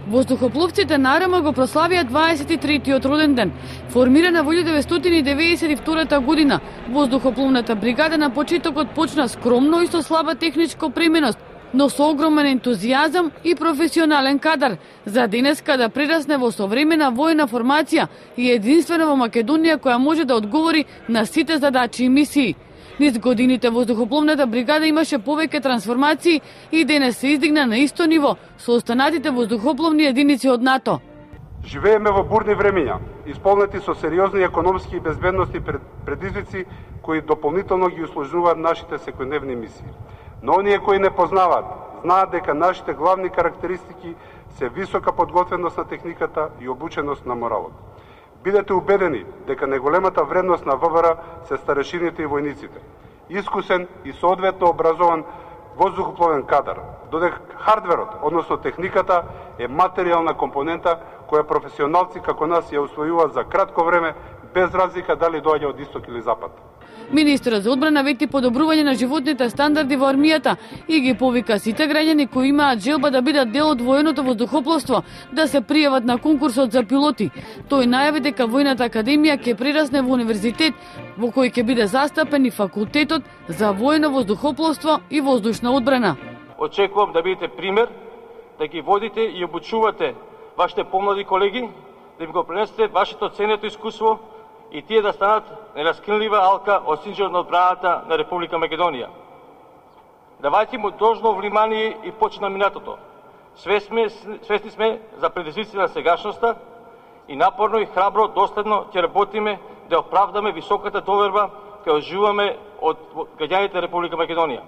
Воздухопловците на РМ го прославија 23-тиот роден ден. Формирана во 1992 година, воздухопловната бригада на почетокот почна скромно и со слаба техничко преминост, но со огромен ентузијазам и професионален кадар, за денеска да прерасне во современа војна формација и единствена во Македонија која може да одговори на сите задачи и мисии. Низ годините воздухопловната бригада имаше повеќе трансформации и денес се издигна на исто ниво со останатите воздухопловни единици од НАТО. Живееме во бурни времиња, исполнети со сериозни економски и безбедностни предизвици кои дополнително ги усложнуваат нашите секојдневни мисии. Но оние кои не познаваат, знаат дека нашите главни карактеристики се висока подготвеност на техниката и обученост на моралот. Бидете убедени дека најголемата вредност на ВВР се старешините и војниците. Искусен и соодветно образован воздухопловен кадар, додека хардверот, односно техниката, е материјална компонента која професионалци како нас ја усвојуваат за кратко време, без разлика дали доаѓа од исток или запад. Министерот за одбрана вети подобрување на животните стандарди во армијата и ги повика сите граѓани кои имаат желба да бидат дел од военото воздухопловство да се пријават на конкурсот за пилоти. Тој најави дека војната академија ќе прерасне во универзитет во кој ќе биде застапен и факултетот за воено воздухопловство и воздушна одбрана. Очекувам да бидете пример, да ги водите и обучувате вашите помлади колеги, да им го пренесете вашето ценето искуство и тие да станат нераскинлива алка од синџот на одбраната на Република Македонија. Давајте му должно внимание и почит на минатото. Свесни сме за предизвиците на сегашноста и напорно и храбро, доследно ќе работиме да оправдаме високата доверба која уживаме од граѓаните на Република Македонија.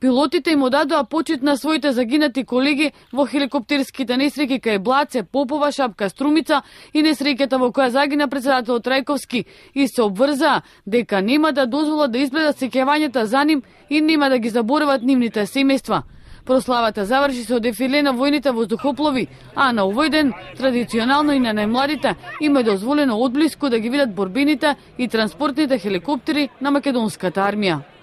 Пилотите им одадоа почит на своите загинати колеги во хеликоптерските несреќи кај Блаце, Попова, Шапка, Струмица и несреќата во која загина председателот Трајковски и се обврзаа дека нема да дозволат да избледат сеќавањата за ним и нема да ги заборават нивните семејства. Прославата заврши со дефиле на војните воздухоплови, а на овој ден традиционално и на најмладите им е дозволено одблиску да ги видат борбените и транспортните хеликоптери на македонската армија.